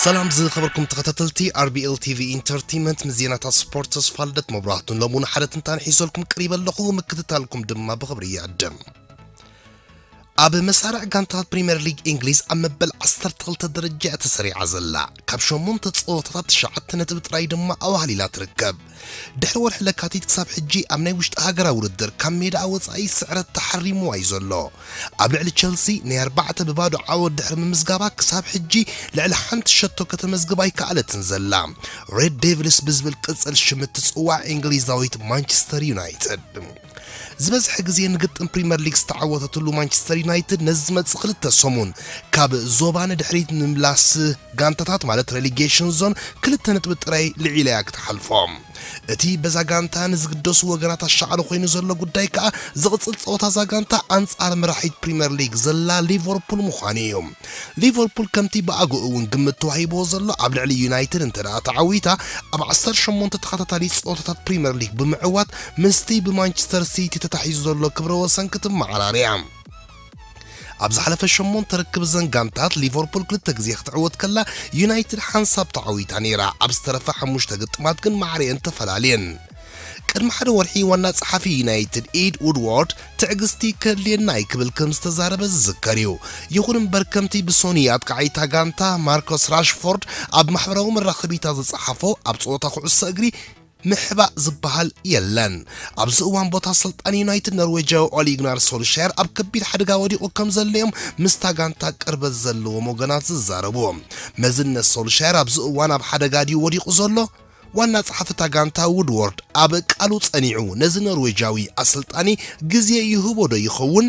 ሰላም ዝኸበርኩም ተኸታተልቲ ኣር ቢ ኤል ቲ ቪ ኢንተርቴይንመንት፣ ምስ ዜናታት ስፖርት ተስፋ ልደት መብራህቱን ሎምውን ሓደ ትንታን ሒዘልኩም ቀሪበ ኣለኹ። ምክትታልኩም ድማ ብኽብሪ ይዕድም። ኣብ መሳርዕ ጋንታት ፕሪምየር ሊግ እንግሊዝ ኣብ መበል ዓሰርተ ክልተ ደረጃ እያ ተሰሪዓ ዘላ። ካብ ሸሞንተ ጸወታታት ትሽዓተ ነጥቢ ጥራይ ድማ ኣዋህሊላ ትርከብ። ድሕሪ ወርሒ ለካቲት ክሳብ ሕጂ ኣብ ናይ ውሽጢ ሃገራዊ ውድድር ካብ ሜዳ ወጻኢ ስዕረት ተሓሪምዋ እዩ ዘሎ። ኣብ ልዕሊ ቸልሲ ናይ ኣርባዕተ ብባዶ ዓወት ድሕሪ ምምዝጋባ ክሳብ ሕጂ ልዕሊ ሓንቲ ሸቶ ከተመዝግብ ኣይከኣለትን ዘላ። ሬድ ዴቪልስ ብዝብል ቅጽል ሽም እትጽዋዕ እንግሊዛዊት ማንቸስተር ዩናይትድ ዝበዝሐ ግዜ ንግጥም ፕሪምየር ሊግ ዝተዓወተትሉ ማንቸስተር ዩናይትድ ነዚ ዝመጽእ ክልተ ሰሙን ካብ ዞባ ንድሕሪት ንምምላስ ጋንታታት ማለት ሬሊጌሽን ዞን ክልተ ነጥቢ ጥራይ ልዒላ እያ ክትሓልፎ። እቲ በዛ ጋንታ ንዝግደሱ ወገናት ኣሻቕሎ ኮይኑ ዘሎ ጉዳይ ከኣ ዝቕጽል ጸወታ እዛ ጋንታ ኣንጻር መራሒት ፕሪምየር ሊግ ዘላ ሊቨርፑል ምዃኑ እዩ። ሊቨርፑል ከምቲ ብኣግኡ እውን ግምት ተዋሂብዎ ዘሎ ኣብ ልዕሊ ዩናይትድ እንተ ደኣ ተዓዊታ ኣብ ዓሰርተ ሸሞንተ ተኸታታሊ ጸወታታት ፕሪምየር ሊግ ብምዕዋት ምስቲ ብማንቸስተር ሲቲ ተታሒዙ ዘሎ ክብረ ወሰን ክትመዓራር እያ። ኣብ ዝሓለፈ ሸሞንተ ርክብ እዘን ጋንታት ሊቨርፑል ክልተ ግዜ ክትዕወት ከላ ዩናይትድ ሓንሳብ ተዓዊታ ነይራ። ኣብ ዝተረፈ ሓሙሽተ ግጥማት ግን ማዕረየን ተፈላልየን። ቅድሚ ሓደ ወርሒ ዋና ጸሓፊ ዩናይትድ ኢድ ውድዋርድ ትዕግስቲ ከድልየና እዩ ክብል ከም ዝተዛረበ ዝዝከር እዩ። ይኹን እምበር ከምቲ ብሶኒ ኣጥቃዒታ ጋንታ ማርኮስ ራሽፎርድ ኣብ ማሕበራዊ መራኸቢታ ዝጸሓፎ ኣብ ጸወታ ኩዕሶ እግሪ ምሕባእ ዝበሃል የለን። ኣብዚ እዋን ቦታ ኣሰልጣኒ ዩናይትድ ኖርዌጃዊ ኦሊ ጉናር ሶልሻየር ኣብ ከቢድ ሓደጋ ወዲቑ ከም ዘሎ እዮም ምስታ ጋንታ ቅርበት ዘለዎም ወገናት ዝዛረቡ። መዝነት ሶልሻየር ኣብዚ እዋን ኣብ ሓደጋ ድዩ ወዲቑ ዘሎ? ዋና ጸሓፊ እታ ጋንታ ውድዎርድ ኣብ ቃሉ ጸኒዑ ነዚ ኖርዌጃዊ ኣሰልጣኒ ግዜ ይህቦ ዶ ይኸውን?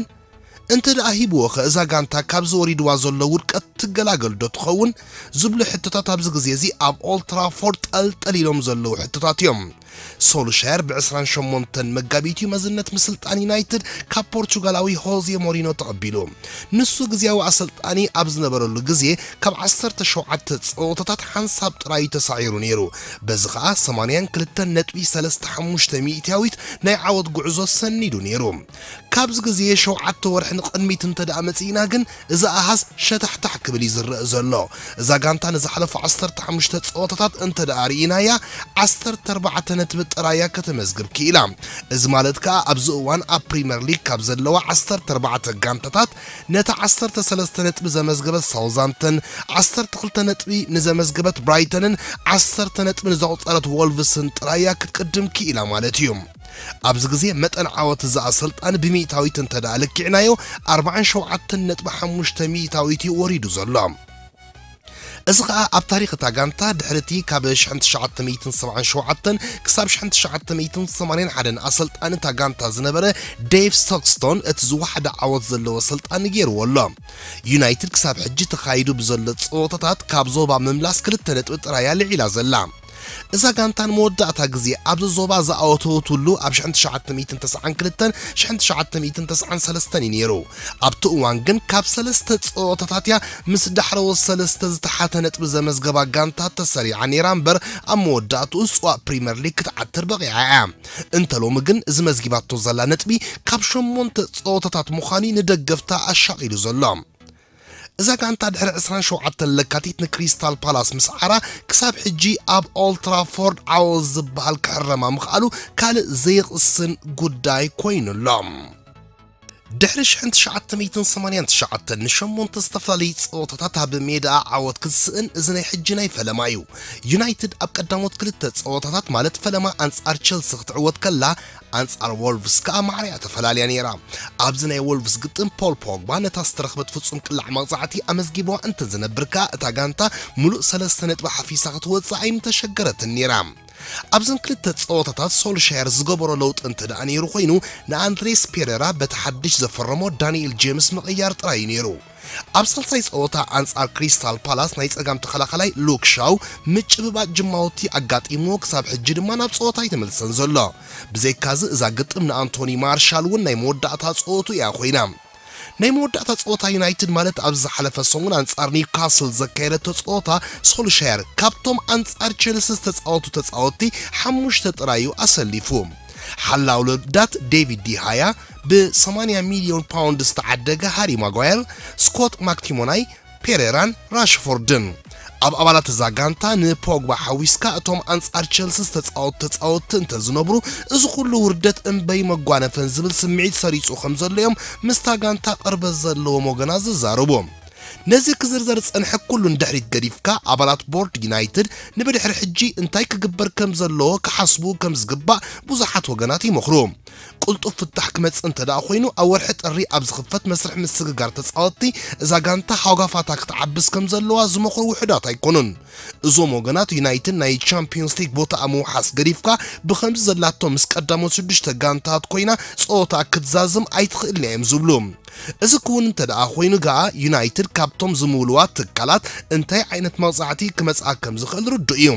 እንተ ደኣ ሂብዎ ኸ እዛ ጋንታ ካብዚ ወሪድዋ ዘሎ ውድቀት ትገላገል ዶ ትኸውን? ዝብሉ ሕቶታት ኣብዚ ግዜ እዚ ኣብ ኦልድ ትራፎርድ ጠልጠል ኢሎም ዘለዉ ሕቶታት እዮም። ሶልሻየር ብ ዕስራን ሸሞንተን መጋቢት እዩ መዝነት ምስልጣን ዩናይትድ ካብ ፖርቹጋላዊ ሆዜ ሞሪኖ ተቐቢሉ። ንሱ ግዜያዊ ኣሰልጣኒ ኣብ ዝነበረሉ ግዜ ካብ ዓሰርተ ሸውዓተ ጸወታታት ሓንሳብ ጥራይ እዩ ተሳዒሩ ነይሩ። በዚ ኸኣ ሰማንያን ክልተን ነጥቢ ሰለስተ ሓሙሽተ ሚእታዊት ናይ ዓወት ጉዕዞ ሰኒዱ ነይሩ። ካብዚ ግዜ ሸውዓተ ወርሒ ንቕድሚት እንተ ደኣ መጺእና ግን፣ እዚ ኣሃዝ ሸታሕታሕ ክብል እዩ ዝረአ ዘሎ። እዛ ጋንታ ንዝሓለፉ ዓሰርተ ሓሙሽተ ጸወታታት እንተ ደኣ ርኢናያ፣ ዓሰርተ ኣርባዕተ ነጥቢ ጥራይ እያ ከተመዝግብ ክኢላ። እዚ ማለት ከኣ፣ ኣብዚ እዋን ኣብ ፕሪምየር ሊግ ካብ ዘለዋ ዓሰርተ ኣርባዕተ ጋንታታት፣ ነታ ዓሰርተ ሰለስተ ነጥቢ ዘመዝገበት ሳውዛምተን፣ ዓሰርተ ክልተ ነጥቢ ንዘመዝገበት ብራይተንን፣ ዓሰርተ ነጥቢ ንዘቑጸረት ወልቭስን ጥራይ እያ ክትቅድም ክኢላ ማለት እዩ። ኣብዚ ግዜ መጠን ዓወት እዚ ኣሰልጣኒ ብሚእታዊት እንተ ደኣ ለኪዕናዮ፣ ኣርባዓን ሸውዓተን ነጥቢ ሓሙሽተ ሚእታዊት እዩ ወሪዱ ዘሎ። እዚ ኸኣ ኣብ ታሪኽ እታ ጋንታ ድሕሪ እቲ ካብ ሽሕን ትሽዓተ ሚእትን ሰብዓን ሸውዓተን ክሳብ ሽሕን ትሽዓተ ሚእትን ሰማንያን ሓደን ኣሰልጣኒ እታ ጋንታ ዝነበረ ዴቭ ስቶክስቶን እቲ ዝወሓደ ዓወት ዘለዎ ኣሰልጣኒ ገይርዎ ኣሎ። ዩናይትድ ክሳብ ሕጂ ተኻይዱ ብዘሎ ጸወታታት ካብ ዞባ ምምላስ ክልተ ነጥቢ ጥራይ እያ ልዒላ ዘላ። እዛ ጋንታ ንመወዳእታ ግዜ ኣብዚ ዞባ ዝኣወተወትሉ ኣብ ሽሕን ትሽዓተ ሚእትን ተስዓን ክልተን ሽሕን ትሽዓተ ሚእትን ተስዓን ሰለስተን እዩ ነይሩ። ኣብቲ እዋን ግን ካብ ሰለስተ ጸወታታት እያ ምስ ዳሕረዎት ሰለስተ ዝተሓተ ነጥቢ ዘመዝገባ ጋንታ ተሰሪዓ ነይራ እምበር፣ ኣብ መወዳእትኡ ጽዋእ ፕሪምየር ሊግ ክትዓትር በቒዓ እያ። እንተ ሎሚ ግን እዚ መዝጊባቶ ዘላ ነጥቢ ካብ ሸሞንተ ጸወታታት ምዃኑ ንደገፍታ ኣሻቒሉ ዘሎ። እዛ ጋንታ ድሕሪ ዕስራን ሸውዓተን ለካቲት ንክሪስታል ፓላስ ምስ ዓራ ክሳብ ሕጂ ኣብ ኦልድ ትራፎርድ ዓወት ዝበሃል ክሕረማ ምኽኣሉ ካልእ ዘይቕስን ጉዳይ ኮይኑ ኣሎ። ድሕሪ ሽሕን ትሽዓተ ሚእትን ሰማንያን ትሽዓተን ንሸሞንተ ዝተፈላለዩ ጸወታታት ኣብ ሜዳኣ ዓወት ክትስእን እዚ ናይ ሕጂ ናይ ፈለማ እዩ። ዩናይትድ ኣብ ቀዳሞት ክልተ ጸወታታት ማለት ፈለማ ኣንጻር ቸልሲ ክትዕወት ከላ ኣንጻር ወልቭስ ከኣ ማዕረ እያ ተፈላልያ ነይራ። ኣብዚ ናይ ወልቭስ ግጥም ፖል ፖግባ ነታ ዝተረኽበት ፍጹም ቅላዕ መቕጻዕቲ ኣመዝጊብዋ እንተ ዝነብር ከኣ እታ ጋንታ ምሉእ ሰለስተ ነጥቢ ሓፊሳ ክትወጽእ ኣይምተሸገረትን ነይራ። ኣብዘን ክልተ ጸወታታት ሶልሻየር ዝገበሮ ለውጢ እንተ ደኣ ነይሩ ኮይኑ ንኣንድሬስ ፔሬራ በቲ ሓድሽ ዘፈረሞ ዳንኤል ጄምስ ምቕያር ጥራይ እዩ ነይሩ። ኣብ ሳልሳይ ጸወታ ኣንጻር ክሪስታል ፓላስ ናይ ጸጋም ተኸላኸላይ ሉክ ሻው ምጭብባጥ ጅማውቲ ኣጋጢምዎ ክሳብ ሕጂ ድማ ናብ ጸወታ ኣይተመልሰን ዘሎ። ብዘይካዚ እዛ ግጥም ንኣንቶኒ ማርሻል እውን ናይ መወዳእታ ጸወቱ እያ ኮይና። ናይ መወዳእታ ጸወታ ዩናይትድ ማለት ኣብ ዝሓለፈ ሰሙን ኣንጻር ኒውካስል ዘካየደቶ ጸወታ ሶልሻየር ካብቶም ኣንጻር ቸልሲ ዝተጻወቱ ተጻወትቲ ሓሙሽተ ጥራይ እዩ ኣሰሊፉ። ሓላው ልዳት ዴቪድ ዲሃያ፣ ብ ሰማንያ ሚልዮን ፓውንድ ዝተዓደገ ሃሪ ማጓየር፣ ስኮት ማክቲሞናይ፣ ፔሬራን ራሽፎርድን። ኣብ ኣባላት እዛ ጋንታ ንፖግባ ሓዊስካ እቶም ኣንጻር ቸልሲ ዝተጻወቱ ተጻወትቲ እንተዝነብሩ፣ እዚ ኩሉ ውርደት እምበይ መጓነፈን ዝብል ስምዒት ሰሪጹ ከም ዘሎ እዮም ምስታ ጋንታ ቅርበት ዘለዎም ወገናት ዝዛረቡ። ነዚ ክዝርዘር ዝጸንሐ ኩሉ ንድሕሪት ገዲፍካ፣ ኣባላት ቦርድ ዩናይትድ ንብድሕሪ ሕጂ እንታይ ክግበር ከም ዘለዎ ክሓስቡ ከም ዝግባእ ብዙሓት ወገናት ይመኽሩ። ቅልጡፍ ፍታሕ ክመጽእ እንተ ደኣ ኮይኑ፣ ኣብ ወርሒ ጥሪ ኣብ ዝኽፈት መስርሕ ምስግጋር ተጻወትቲ እዛ ጋንታ ሃጓፋታ ክትዓብስ ከም ዘለዋ ዝመኽሩ ውሑዳት ኣይኮኑን። እዞም ወገናት ዩናይትድ ናይ ቻምፒዮንስ ሊግ ቦታኣ ምውሓስ ገዲፍካ ብኸምዚ ዘላቶ ምስ ቀዳሞት ሽዱሽተ ጋንታት ኮይና ጸወታ ክትዛዝም ኣይትኽእልን እዮም ዝብሉ። እዚ ክውን እንተ ደኣ ኮይኑ ገኣ ዩናይትድ ካብቶም ዝምውልዋ ትካላት እንታይ ዓይነት መቕጻዕቲ ክመጽኣ ከም ዝኽእል ርዱእ እዩ።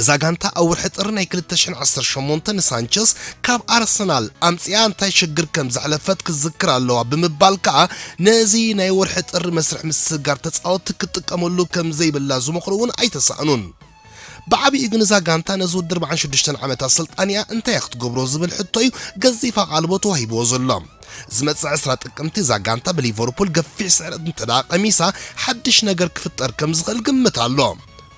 እዛ ጋንታ ኣብ ወርሒ ጥሪ ናይ ክልተ ሽሕን ዓሰርተ ሸሞንተን ንሳንቸስ ካብ ኣርሰናል ኣምጺኣ እንታይ ሽግር ከም ዘሕለፈት ክዝክር ኣለዋ ብምባል ከኣ ነዚ ናይ ወርሒ ጥሪ መስርሕ ምስግጋር ተጻወትቲ ክትጥቀመሉ ከም ዘይብላ ዝመኽሩ እውን ኣይተሳእኑን። ብዓቢኡ ግን እዛ ጋንታ ነዚ ውድድር ኣርባዓን ሽዱሽተን ዓመት ኣሰልጣኒኣ እንታይ እያ ክትገብሮ ዝብል ሕቶ እዩ ገዚፍ ኣቓልቦ ተዋሂብዎ ዘሎ። ዝመጽእ ዕስራ ጥቅምቲ እዛ ጋንታ ብሊቨርፑል ገፊሕ ስዕረት እንተ ደኣ ቀሚሳ ሓድሽ ነገር ክፍጠር ከም ዝኽእል ግምት ኣሎ።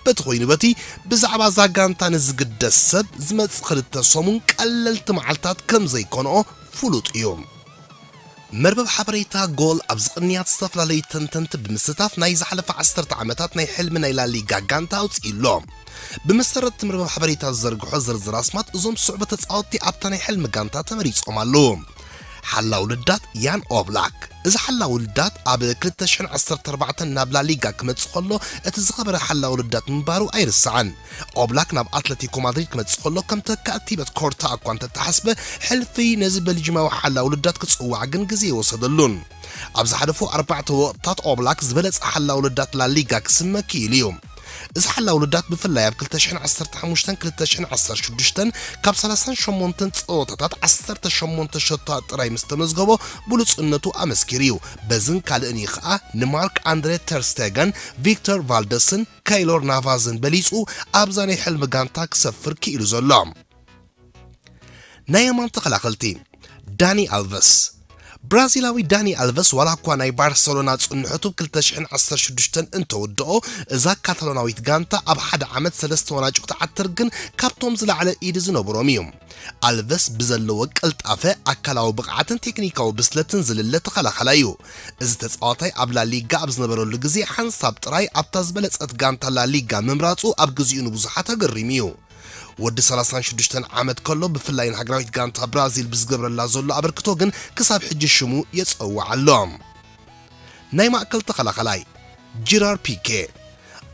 በቲ ኮይኑ በቲ ብዛዕባ እዛ ጋንታ ንዝግደስ ሰብ ዝመጽእ ክልተ ሰሙን ቀለልቲ መዓልታት ከም ዘይኮንኦ ፍሉጥ እዩ። መርበብ ሓበሬታ ጎል ኣብዚ ቅንያት ዝተፈላለዩ ተንተንቲ ብምስታፍ ናይ ዝሓለፈ ዓሰርተ ዓመታት ናይ ሕልሚ ናይ ላሊጋ ጋንታ ኣውፅኡ ኣሎ። ብመሰረት እቲ መርበብ ሓበሬታ ዝዘርግሖ ዝርዝር ኣስማት እዞም ዝስዕቡ ተፃወትቲ ኣብታ ናይ ሕልሚ ጋንታ ተመሪፆም ኣለዉ። ሓላው ልዳት ያን ኦብላክ። እዚ ሓላው ልዳት ኣብ ክልተ ሽሕን ዓሰርተ ኣርባዕተን ናብ ላሊጋ ክመጽእ ከሎ እቲ ዝኸበረ ሓላው ልዳት ምንባሩ ኣይርሳዕን። ኦብላክ ናብ ኣትለቲኮ ማድሪድ ክመጽእ ከሎ ከም ተካእ ቲበት ኮርታ እኳ እንተተሓስበ፣ ሕልፊ ነዚ ቤልጂማዊ ሓላው ልዳት ክጽዋዕ ግን ግዜ ይወሰደሉን። ኣብ ዝሓለፉ ኣርባዕተ ወቕታት ኦብላክ ዝበለጸ ሓላው ልዳት ላሊጋ ክስመ ክኢሉ እዩ። እዚ ሓላው ልዳት ብፍላይ ኣብ ክልተ ሽሕን ዓሰርተ ሓሙሽተን ክልተ ሽሕን ዓሰርተ ሽዱሽተን ካብ ሰላሳን ሸሞንተን ጸወታታት ዓሰርተ ሸሞንተ ሸቶታት ጥራይ ምስ ተመዝገቦ ብሉጽነቱ ኣመስኪሩ እዩ። በዝን ካልእን እዩ ኸኣ ንማርክ ኣንድሬ ተር ስቴገን፣ ቪክተር ቫልደስን ካይሎር ናቫዝን በሊጹ ኣብዛ ናይ ሕልሚ ጋንታ ክሰፍር ክኢሉ ዘሎ። ናይ የማን ተኸላኸልቲ ዳኒ ኣልቨስ። ብራዚላዊ ዳኒ ኣልቨስ ዋላ እኳ ናይ ባርሰሎና ጽንሖቱ ክልተ ሽሕን ዓሰርተ ሽዱሽተን እንተወድኦ፣ እዛ ካታሎናዊት ጋንታ ኣብ ሓደ ዓመት ሰለስተ ዋንጫ ክትዓትር ግን ካብቶም ዝለዓለ ኢድ ዝነበሮም እዩ። ኣልቨስ ብዘለዎ ቅልጣፈ፣ ኣካላዊ ብቕዓትን ቴክኒካዊ ብስለትን ዝልለ ተኸላኸላይ እዩ። እዚ ተጻዋታይ ኣብ ላሊጋ ኣብ ዝነበረሉ ግዜ ሓንሳብ ጥራይ ኣብታ ዝበለጸት ጋንታ ላሊጋ ምምራጹ ኣብ ግዜኡ ንብዙሓት ኣገሪሙ እዩ። ወዲ ሰላሳን ሽዱሽተን ዓመት ከሎ ብፍላይ ንሃገራዊት ጋንታ ብራዚል ብዝገብረላ ዘሎ ኣበርክቶ ግን ክሳብ ሕጂ ሽሙ የጸውዕ ኣሎ። ናይ ማእከል ተኸላኸላይ ጂራር ፒኬ።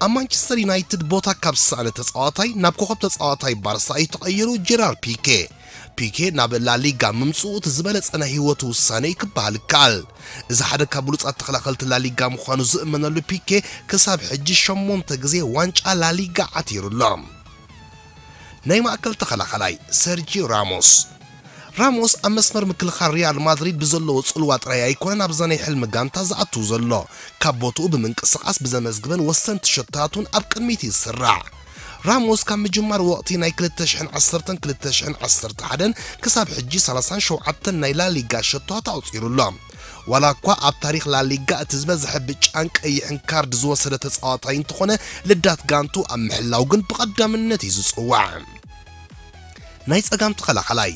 ኣብ ማንቸስተር ዩናይትድ ቦታ ካብ ዝሰኣነ ተጻዋታይ ናብ ኮኸብ ተጻዋታይ ባርሳ እዩ ተቐይሩ። ጂራር ፒኬ ፒኬ ናብ ላሊጋ ምምጽኡ እቲ ዝበለጸ ናይ ህይወቱ ውሳነ እዩ ክበሃል ይከኣል። እዚ ሓደ ካብ ብሉጻት ተኸላኸልቲ ላሊጋ ምዃኑ ዝእመነሉ ፒኬ ክሳብ ሕጂ ሸሞንተ ግዜ ዋንጫ ላሊጋ ዓቲሩ ኣሎ። ናይ ማእከል ተኸላኸላይ ሰርጂ ራሞስ። ራሞስ ኣብ መስመር ምክልኻል ሪያል ማድሪድ ብዘለዎ ጽልዋ ጥራይ ኣይኮነን ኣብዛ ናይ ሕልሚ ጋንታ ዝኣቱ ዘሎ። ካብ ቦትኡ ብምንቅስቓስ ብዘመዝግበን ወሰንቲ ሸቶታቱን ኣብ ቅድሚት እዩ ዝስራዕ። ራሞስ ካብ ምጅማር ወቕቲ ናይ ክልተ ሽሕን ዓሰርተን ክልተ ሽሕን ዓሰርተ ሓደን ክሳብ ሕጂ ሰላሳን ሸውዓተን ናይ ላሊጋ ሸቶታት ኣቑጺሩ ኣሎ። ዋላ እኳ ኣብ ታሪኽ ላሊጋ እቲ ዝበዝሐ ብጫን ቀይሕን ካርድ ዝወሰደ ተጻዋታይ እንተኾነ፣ ልዳት ጋንቱ ኣብ ምሕላው ግን ብቐዳምነት እዩ ዝጽዋዕ። ናይ ጸጋም ተኸላኸላይ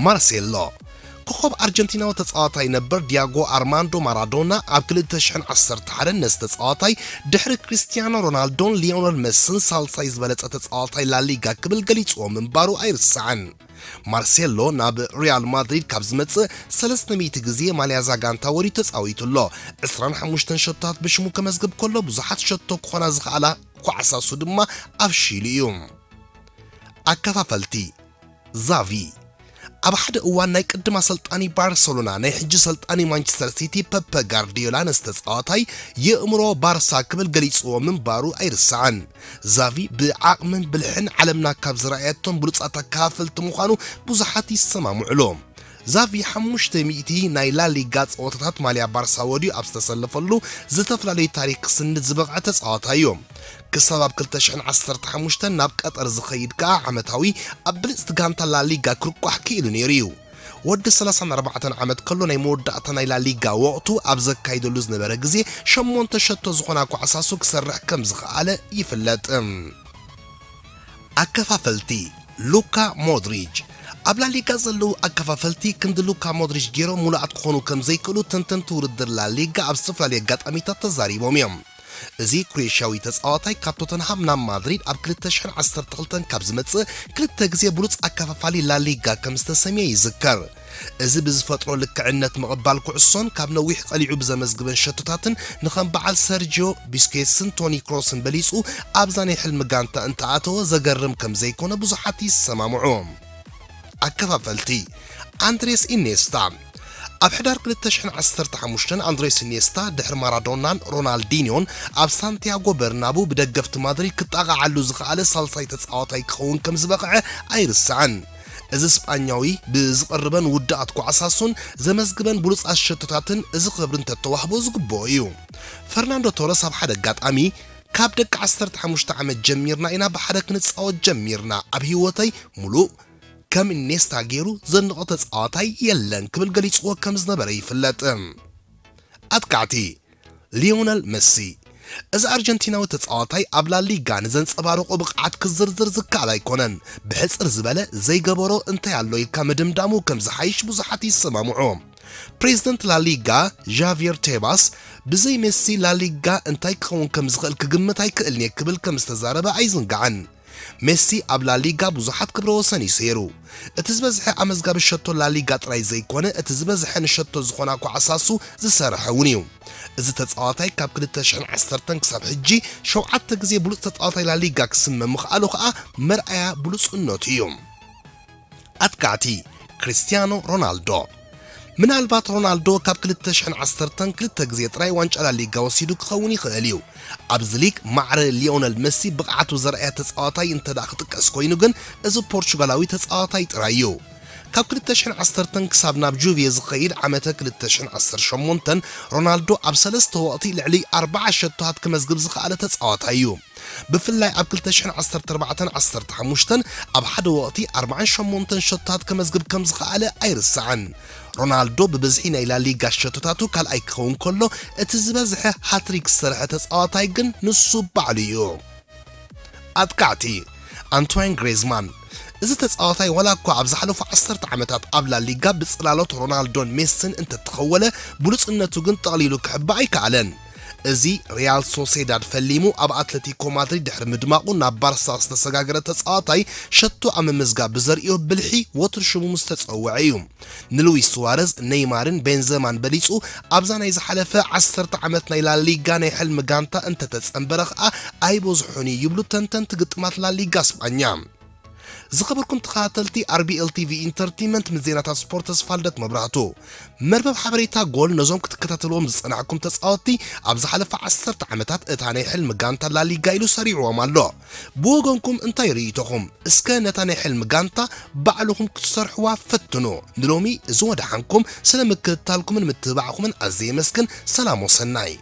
ማርሴሎ። ኮኸብ ኣርጀንቲናዊ ተጻዋታይ ነበር ዲያጎ ኣርማንዶ ማራዶና ኣብ ክልተ ሽሕን ዓሰርተ ሓደን ነዚ ተጻዋታይ ድሕሪ ክርስቲያኖ ሮናልዶን ሊዮነል መሲን ሳልሳይ ዝበለጸ ተጻዋታይ ላሊጋ ክብል ገሊጽዎ ምንባሩ ኣይርሳዕን። ማርሴሎ ናብ ሪያል ማድሪድ ካብ ዝመጽእ ሰለስተ ሚእቲ ግዜ ማልያ እዛ ጋንታ ወሪዱ ተጻዊቱ ኣሎ። ዕስራን ሓሙሽተን ሸቶታት ብሽሙ ከመዝግብ ከሎ፣ ብዙሓት ሸቶ ክኾና ዝኸኣላ ኳዕሳሱ ድማ ኣፍሺሉ እዩ። ኣከፋፈልቲ ዛቪ። ኣብ ሓደ እዋን ናይ ቅድም ኣሰልጣኒ ባርሰሎና፣ ናይ ሕጂ ሰልጣኒ ማንቸስተር ሲቲ ፐፐ ጋርዲዮላ ነዚ ተጻዋታይ የእምሮ ባርሳ ክብል ገሊጽዎ ምንባሩ ኣይርሳዕን። ዛቪ ብዓቕምን ብልሕን ዓለምና ካብ ዝረኣየቶም ብሉጻት ኣከፋፈልቲ ምዃኑ ብዙሓት ይሰማምዑሉ። ዛቪ ሓሙሽተ ሚእቲ ናይ ላሊጋ ጸወታታት ማልያ ባርሳ ወድዩ ኣብ ዝተሰለፈሉ ዝተፈላለዩ ታሪኽ ክስንድ ዝበቕዐ ተጻዋታይ እዩ። ክሳብ ኣብ ክልተ ሽሕን ዓሰርተ ሓሙሽተን ናብ ቀጠር ዝኸይድ ከኣ ዓመታዊ ኣብ ብልጽቲ ጋንታ ላሊጋ ክርቋሕ ክኢሉ ነይሩ እዩ። ወዲ ሰላሳን ኣርባዕተን ዓመት ከሎ ናይ መወዳእታ ናይ ላሊጋ ወቕቱ ኣብ ዘካይደሉ ዝነበረ ግዜ ሸሞንተ ሸቶ ዝኾና ኳዕሳሱ ክሰርሕ ከም ዝኸኣለ ይፍለጥ። ኣከፋፈልቲ ሉካ ሞድሪች። ኣብ ላሊጋ ዘለዉ ኣከፋፈልቲ ክንዲ ሉካ ሞድሪች ገይሮም ሙሉኣት ክኾኑ ከም ዘይክእሉ ተንተንቲ ውድድር ላሊጋ ኣብ ዝተፈላለዩ ኣጋጣሚታት ተዛሪቦም እዮም። እዚ ክሮኤሽያዊ ተጻዋታይ ካብ ቶተንሃም ናብ ማድሪድ ኣብ ክልተ ሽሕን ዓሰርተ ክልተን ካብ ዝመጽእ ክልተ ግዜ ብሉጽ ኣከፋፋሊ ላሊጋ ከም ዝተሰምየ ይዝከር። እዚ ብዝፈጥሮ ልክዕነት ምቕባል ኩዕሶን ካብ ነዊሕ ጸሊዑ ብዘመዝግበን ሸቶታትን ንኸም በዓል ሰርጂዮ ቢስኬትስን ቶኒ ክሮስን በሊጹ ኣብዛ ናይ ሕልሚ ጋንታ እንተኣተወ ዘገርም ከም ዘይኮነ ብዙሓት ይሰማምዑ። ኣከፋፈልቲ ኣንድሬስ ኢኔስታ። ኣብ ሕዳር ክልተ ሽሕን ዓሰርተ ሓሙሽተን ኣንድሬስ ኢኔስታ ድሕሪ ማራዶናን ሮናልዲኒዮን ኣብ ሳንቲያጎ በርናቡ ብደገፍቲ ማድሪድ ክጣቓዓሉ ዝኸኣለ ሳልሳይ ተጻዋታይ ክኸውን ከም ዝበቕዐ ኣይርሳዕን። እዚ ስጳኛዊ ብዝቐርበን ውድኣት ኳዕሳሱን ዘመዝግበን ብሉጻት ሸቶታትን እዚ ክብሪ እንተተዋህቦ ዝግብኦ እዩ። ፈርናንዶ ቶረስ ኣብ ሓደ ኣጋጣሚ፣ ካብ ደቂ ዓሰርተ ሓሙሽተ ዓመት ጀሚርና ኢና ብሓደ ክንጻወት ጀሚርና፣ ኣብ ህይወተይ ሙሉእ ከም ኢኔስታ ገይሩ ዘንቖ ተጻዋታይ የለን ክብል ገሊጽዎ ከም ዝነበረ ይፍለጥ። ኣጥቃዕቲ ሊዮነል መሲ። እዚ ኣርጀንቲናዊ ተጻዋታይ ኣብ ላሊጋ ንዘንጸባረቆ ብቕዓት ክዝርዝር ዝከኣል ኣይኮነን። ብሕጽር ዝበለ ዘይገበሮ እንታይ ኣሎ ኢልካ ምድምዳሙ ከም ዝሓይሽ ብዙሓት ይሰማምዑ። ፕሬዝደንት ላሊጋ ዣቪየር ቴባስ ብዘይ ሜሲ ላሊጋ እንታይ ክኸውን ከም ዝኽእል ክግምት ኣይክእልን እየ ክብል ከም ዝተዛረበ ኣይዝንጋዕን። ሜሲ ኣብ ላሊጋ ብዙሓት ክብረ ወሰን እዩ ሰይሩ። እቲ ዝበዝሐ ኣመዝጋቢ ሸቶ ላሊጋ ጥራይ ዘይኮነ፣ እቲ ዝበዝሐ ንሸቶ ዝኾና ኳዕሳሱ ዝሰርሐ እውን እዩ። እዚ ተጻዋታይ ካብ ክልተ ሽሕን ዓሰርተን ክሳብ ሕጂ ሸውዓተ ግዜ ብሉጽ ተጻዋታይ ላሊጋ ክስመ ምኽኣሉ ከኣ መርኣያ ብሉጽነቱ እዩ። ኣጥቃዕቲ ክርስቲያኖ ሮናልዶ። ምናልባት ሮናልዶ ካብ ክልተ ሽሕን ዓሰርተን ክልተ ግዜ ጥራይ ዋንጫ ላሊጋ ወሲዱ ክኸውን ይኽእል እዩ። ኣብዚ ሊግ ማዕረ ሊዮነል መሲ ብቕዓቱ ዘርኣየ ተጻዋታይ እንተ ደኣ ክጥቀስ ኮይኑ ግን፣ እዚ ፖርቹጋላዊ ተጻዋታይ ጥራይ እዩ። ካብ ክልተ ሽሕን ዓሰርተን ክሳብ ናብ ጁቬ ዝኸይድ ዓመተ ክልተ ሽሕን ዓሰርተ ሸሞንተን፣ ሮናልዶ ኣብ ሰለስተ ወቕቲ ልዕሊ ኣርብዓ ሸቶታት ክመዝግብ ዝኸኣለ ተጻዋታይ እዩ። ብፍላይ ኣብ ክልተ ሽሕን ዓሰርተ ኣርባዕተን ዓሰርተ ሓሙሽተን ኣብ ሓደ ወቕቲ ኣርብዓን ሸሞንተን ሸቶታት ከመዝግብ ከም ዝኸኣለ ኣይርሳዕን። ሮናልዶ ብብዝሒ ናይ ላሊጋ ሸቶታቱ ካልኣይ ክኸውን ከሎ፣ እቲ ዝበዝሐ ሃትሪክ ዝሰርሐ ተጻዋታይ ግን ንሱ ባዕሉ እዩ። ኣጥቃዕቲ ኣንቶይን ግሬዝማን። እዚ ተጻዋታይ ዋላ እኳ ኣብ ዝሓለፉ ዓሰርተ ዓመታት ኣብ ላሊጋ ብጽላሎት ሮናልዶን ሜስን እንተተኸወለ፣ ብሉጽነቱ ግን ጠቕሊሉ ክሕባእ ኣይከኣለን። እዚ ሪያል ሶሴዳድ ፈሊሙ ኣብ ኣትለቲኮ ማድሪድ ድሕሪ ምድማቑ ናብ ባርሳ ዝተሰጋገረ ተጻዋታይ፣ ሸቶ ኣብ ምምዝጋብ ብዘርእዮ ብልሒ ወትሩ ሽሙ ምስ ተጸውዐ እዩ። ንሉዊስ ሱዋረዝ፣ ኔይማርን ቤንዘማን በሊጹ ኣብዛ ናይ ዝሓለፈ ዓሰርተ ዓመት ናይ ላሊጋ ናይ ሕልሚ ጋንታ እንተተጸንበረ ከኣ ኣይበዝሑን እዩ ይብሉ ተንተንቲ ግጥማት ላሊጋ ስጳኛ። ዝኸበርኩም ተኸታተልቲ ኣር ቢ ኤል ቲ ቪ ኢንተርቴይንመንት፣ ምስ ዜናታት ስፖርት ተስፋልደት መብራህቱ። መርበብ ሓበሬታ ጎል ነዞም ክትከታተልዎም ዝጸናሕኩም ተጻወትቲ ኣብ ዝሓለፈ ዓሰርተ ዓመታት እታ ናይ ሕልሚ ጋንታ ላሊጋ ኢሉ ሰሪዕዎም ኣሎ። ብወገንኩም እንታይ ርእይቶኹም? እስከ ነታ ናይ ሕልሚ ጋንታ ባዕልኹም ክትሰርሕዋ ፈትኑ። ንሎሚ እዚ ወደሓንኩም፣ ስለ ምክትታልኩምን ምትብባዕኩምን ኣዝየ የመስግን። ሰላም ወሰናይ።